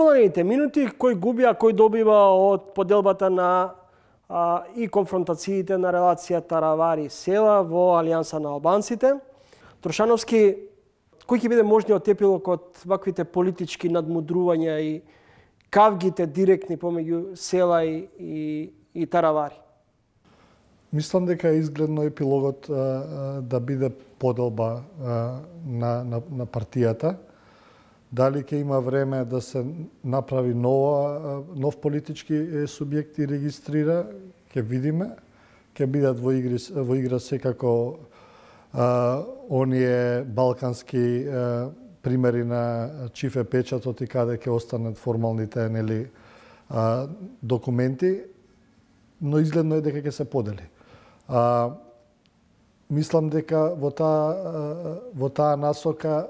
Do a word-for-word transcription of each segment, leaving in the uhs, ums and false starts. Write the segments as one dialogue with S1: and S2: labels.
S1: футболните минути кој губи, а кој добива од поделбата на а, и конфронтациите на релацијата Таравари-Села во Алијанса на албанците. Трошановски, кој ќе биде можниот епилог од ваквите политички надмудрувања и кавгите директни помеѓу Села и, и, и Таравари?
S2: Мислам дека е изгледно епилогот а, а, да биде поделба а, на, на, на партијата. Дали ќе има време да се направи нова, нов политички субјект и регистрира, ќе видиме. Ќе бидат во, игри, во игра секако а, оние балкански а, примери на чифе печатот и каде ќе останат формалните нели, а, документи, но изгледно е дека ќе се подели. А, мислам дека во таа, во таа насока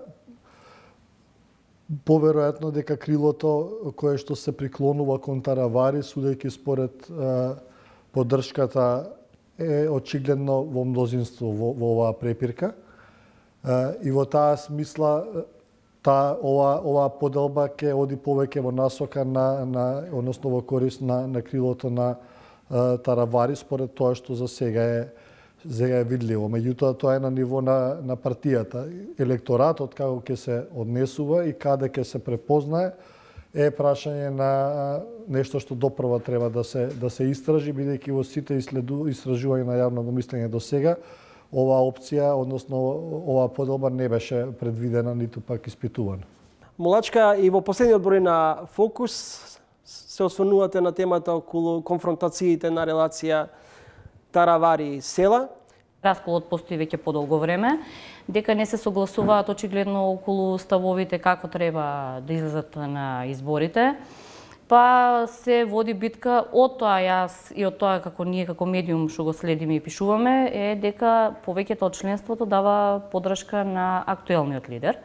S2: поверојатно дека крилото кое што се приклонува кон Таравари, судејќи според а, поддршката, е очигледно во мнозинство во, во оваа препирка. А, и во таа смисла та ова ова поделба ќе оди повеќе во насока на на односно во корист на на крилото на а, Таравари според тоа што за сега е сега е видливо. Меѓутоа тоа е на ниво на на партијата. Електоратот како ќе се однесува и каде ќе се препознае е прашање на нешто што допрва треба да се да се истражи, бидејќи во сите истражувања на јавното мислење до сега оваа опција, односно оваа поделба не беше предвидена ниту пак испитувана.
S1: Молачка, и во последниот број на Фокус се осврнувате на темата околу конфронтациите на релација Таравари-Села.
S3: Расколот постои веќе подолго време, дека не се согласуваат очигледно околу ставовите како треба да излезат на изборите. Па се води битка, од тоа јас и од тоа како ние како медиум што го следиме и пишуваме, е дека повеќето од членството дава поддршка на актуелниот лидер.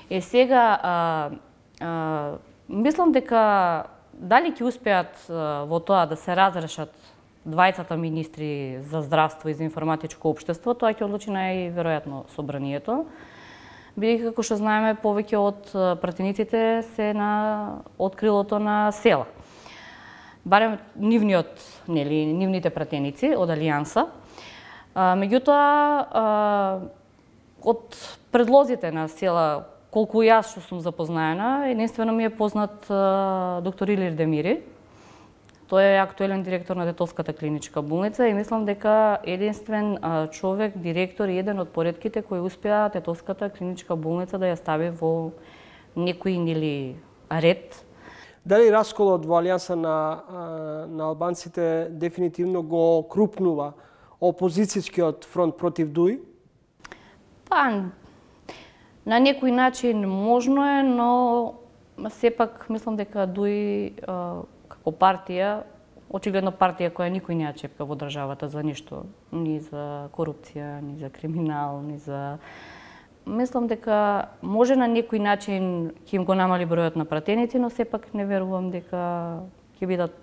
S3: Е сега, а, а, мислам дека дали ќе успеат а, во тоа да се разрешат двајцата министри за здравство и за информатичко општество, тоа ќе одлучи најверојатно собранието. Бидејќи, како што знаеме, повеќе од пратениците се на открилото на Села. Барем нивниот, нели, нивните пратеници од Алијанса. А, меѓутоа, од предлозите на Села, колку јас што сум запознаена, единствено ми е познат а, доктор Илир Демири. Тој е актуелен директор на Детовската клиничка болница и мислам дека единствен а, човек, директор и еден од поредките кој успеа Детовската клиничка болница да ја стави во некој нели ред.
S1: Дали расколот во Алијанса на, на албанците дефинитивно го крупнува опозицијскиот фронт против ДУИ?
S3: Па, на некој начин можно е, но сепак мислам дека ДУИ а, како партија, очигледно партија која никој не ја чепка во државата за ништо, ни за корупција, ни за криминал, ни за... Мислам дека може на некој начин ќе им го намали бројот на пратеници, но сепак не верувам дека ќе бидат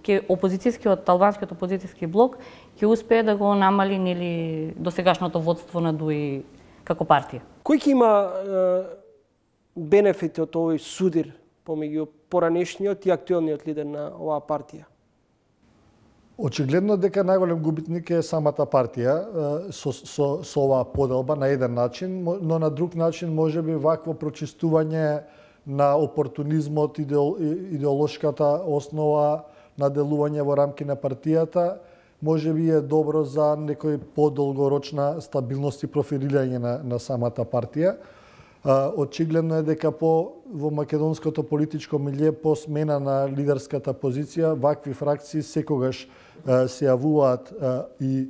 S3: ќе опозицијскиот, албанскиот опозицијски блок ќе успее да го намали нели досегашното водство на ДУИ како партија.
S1: Кој ќе има е, бенефити од овој судир помеѓу поранешниот и актуелниот лидер на оваа партија?
S2: Очигледно дека најголем губитник е самата партија со, со, со оваа поделба на еден начин, но на друг начин може би вакво прочистување на опортунизмот, идеол, идеолошката основа на делување во рамки на партијата, може би е добро за некој подолгорочна стабилност и профилирање на, на самата партија. Очигледно е дека по во македонското политичко милје по смена на лидерската позиција вакви фракции секогаш се јавуваат и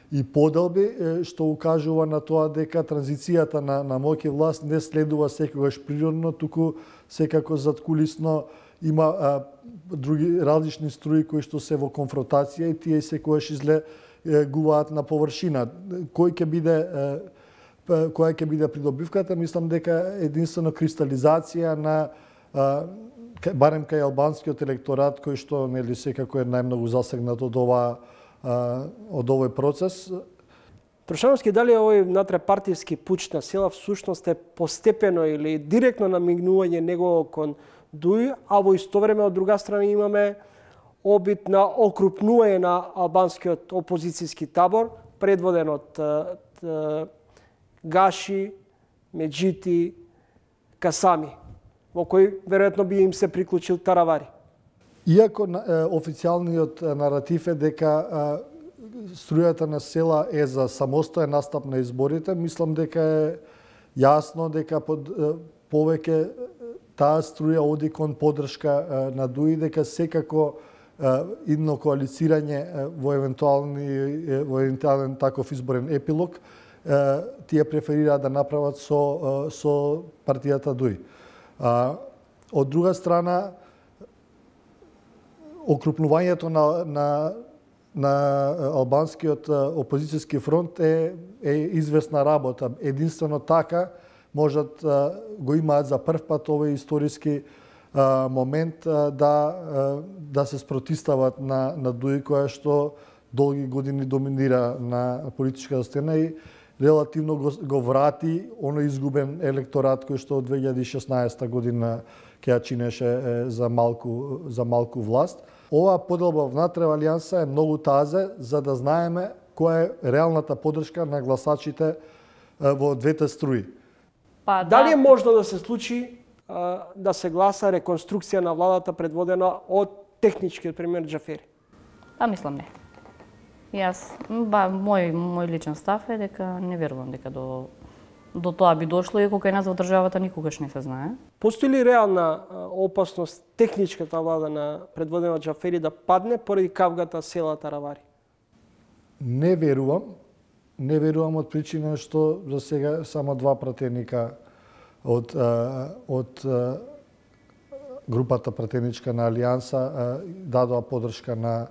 S2: и поделби, што укажува на тоа дека транзицијата на на моќ и власт не следува секогаш природно, туку секако задкулисно има а, други различни струи кои што се во конфронтација и тие секогаш излегуваат на површина. Кој ќе биде која ќе биде придобивката, мислам дека единствено кристализација на а, барем кај албанскиот електорат кој што нели секако е најмногу засегнат од ова а, од овој процес.
S1: Трошановски, дали овој натрепартијски пуч на Села всушност е постепено или директно намигнување него кон Дуи, а во исто време од друга страна имаме обид на окрупнување на албанскиот опозицијски табор, предводен од Гаши, Меджити, Касами, во кој веројатно би им се приклучил Таравари.
S2: Иако официјалниот наратив е дека струјата на села е за самостоен настап на изборите, мислам дека е јасно дека под повеќе таа струја оди кон поддршка на Дуи, дека секако идно коалицирање во евентуални во евентуален таков изборен епилог тие преферираат да направат со со партијата Дуи. Од друга страна, окрупнувањето на на на албанскиот опозицијски фронт е е известна работа. Единствено така можат го имаат за прв пат овој историски момент да да се спротистават на на Дуи, која што долги години доминира на политичката сцена и релативно го, го врати оној изгубен електорат кој што од две илјади и шеснаесета година ќе ја чинеше за малку за малку власт. Оваа поделба внатре во Алијанса е многу тазе за да знаеме која е реалната поддршка на гласачите во двете струи.
S1: Па, дали да... е можно да се случи а, да се гласа реконструкција на владата предводена од техничкиот премиер Џафери?
S3: Па мислам не. Јас, ба, мој мој личен став е дека не верувам дека до до тоа би дошло, иако кај нас во државата никогаш не се знае.
S1: Постои ли реална опасност техничката влада на предводена од Џафери да падне поради кавгата села Таравари?
S2: Не верувам. Не верувам од причина што за сега само два пратеника од од групата пратеничка на Алијанса дадоа поддршка на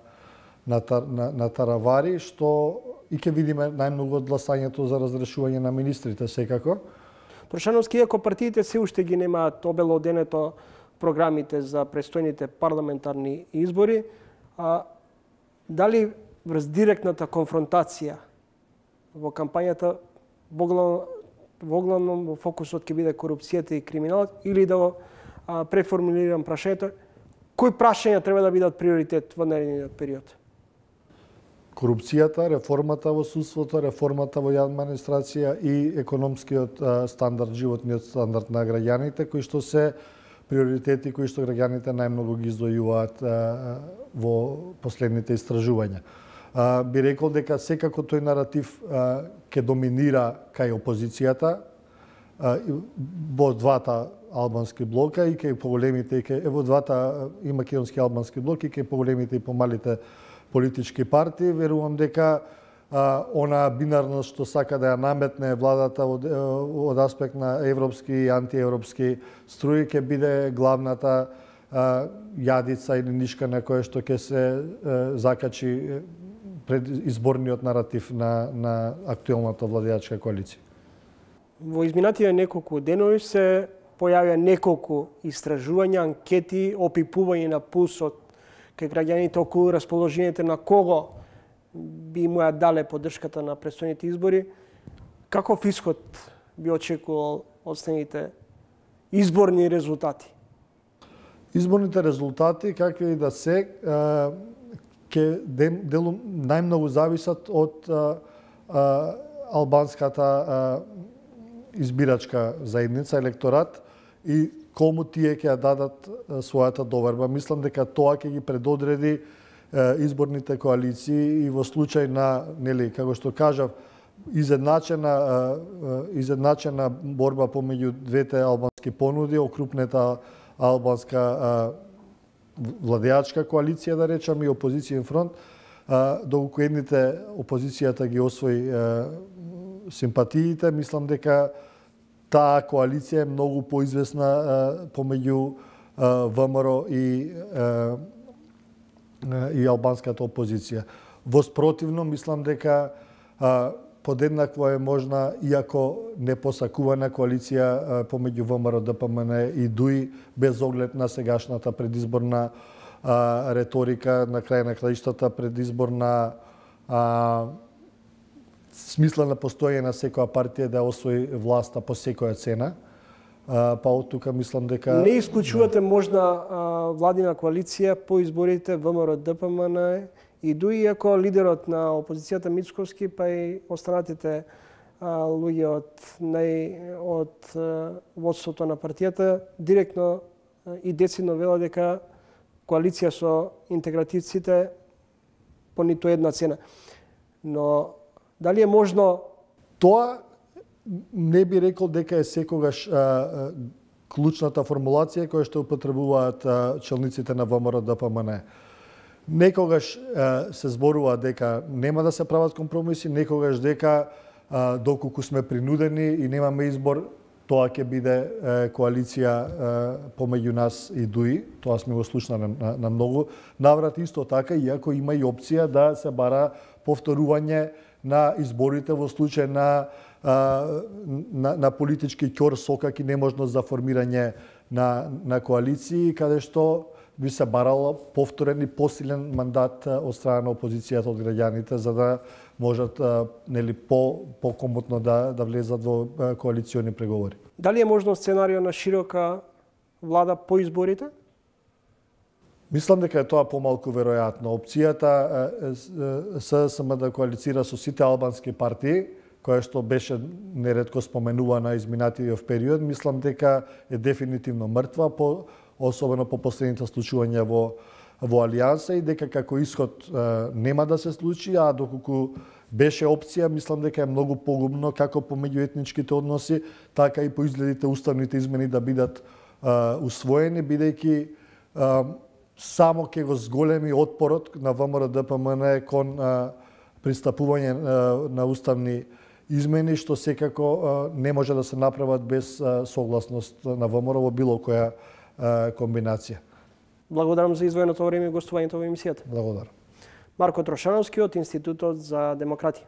S2: на на, на Таравари, што и ќе видиме најмногу од гласањето за разрешување на министрите секако.
S1: Трошановски, иако партиите се уште ги немаат обелоденето програмите за престојните парламентарни избори, а, дали врз директната конфронтација во кампањата воглавно во фокусот ќе биде корупцијата и криминалот, или да го а, преформулирам прашањето, кои прашања треба да бидат приоритет во наредниот период?
S2: Корупцијата, реформата во судството, реформата во јавна администрација и економскиот стандард, животниот стандард на граѓаните, кои што се приоритети кои што граѓаните најмногу ги издвојуваат во последните истражувања. Би рекол дека секако тој наратив ќе доминира кај опозицијата во двата албански блока и кај поголемите и кај во двата и македонски албански блок и кај поголемите и помалите политички партии. Верувам дека а, она бинарност што сака да ја наметне владата од, од аспект на европски и антиевропски струи ќе биде главната а, јадица или нишка на која што ќе се а, закачи пред изборниот наратив на, на актуелната владеачка коалиција.
S1: Во изминатите неколку денови се појавија неколку истражувања, анкети, опипување на пулсот кај граѓаните околу расположението на кого би му ја дале поддршката на престојните избори. Каков исход би очекувал од следните изборни резултати?
S2: Изборните резултати, какви и да се, ќе делум најмногу зависат од албанската избирачка заедница, електорат и кому тие ќе ја дадат својата доверба. Мислам дека тоа ќе ги предодреди изборните коалиции и во случај на, нели, како што кажав, изедначена изедначена борба помеѓу двете албански понуди, окрупнета албанска владеачка коалиција, да речам, и опозицијен фронт, доколку едните опозицијата ги освои симпатиите, мислам дека таа коалиција е многу поизвестна помеѓу ВМРО и и албанската опозиција. Во спротивно, мислам дека подеднакво е можна, иако непосакувана коалиција помеѓу ВМРО, ДПМН и ДУИ, без оглед на сегашната предизборна а, реторика, на крај на краиштата предизборна а, смисла на постојање на секоја партија да освои власта по секоја цена. па од тука мислам дека
S1: не исклучувате можна а, владина коалиција по изборите ВМРО Д П М Н и дуи ако лидерот на опозицијата Мицковски па и останатите а, луѓе од нај од а, водството на партијата директно а, и децидно велат дека коалиција со интегративците по ниту една цена. Но дали е можно
S2: тоа не би рекол дека е секогаш а, а, клучната формулација која што употребуваат а, челниците на ВМРО Д П М Н. Некогаш а, се зборува дека нема да се прават компромиси, некогаш дека а, доколку сме принудени и немаме избор, тоа ќе биде а, коалиција а, помеѓу нас и ДУИ. Тоа сме го слушнали на, на многу наврати исто така, иако има и опција да се бара повторување на изборите во случај на На, на политички ќор сокак и неможност за формирање на, на коалиции, каде што би се барало повторен и посилен мандат од страна на опозицијата од граѓаните, за да можат нели, по, по-комотно да, да влезат во коалициони преговори.
S1: Дали е можно сценарио на широка влада по изборите?
S2: Мислам дека е тоа помалку веројатно. Опцијата С С М да коалицира со сите албански партии, која што беше неретко споменувана изминатиот период, мислам дека е дефинитивно мртва, по, особено по последните случувања во, во Алијанса и дека како исход е, нема да се случи, а доколку беше опција, мислам дека е многу погубно како по меѓуетничките односи, така и по изгледите уставните измени да бидат е, усвоени, бидејќи е, само ќе го зголеми отпорот на ВМРО Д П М Н кон е, пристапување е, на уставни измени, што секако не може да се направат без согласност на ВМРО во било која комбинација.
S1: Благодарам за издвоеното време и гостувањето во емисијата.
S2: Благодарам.
S1: Марко Трошановски од Институтот за демократија.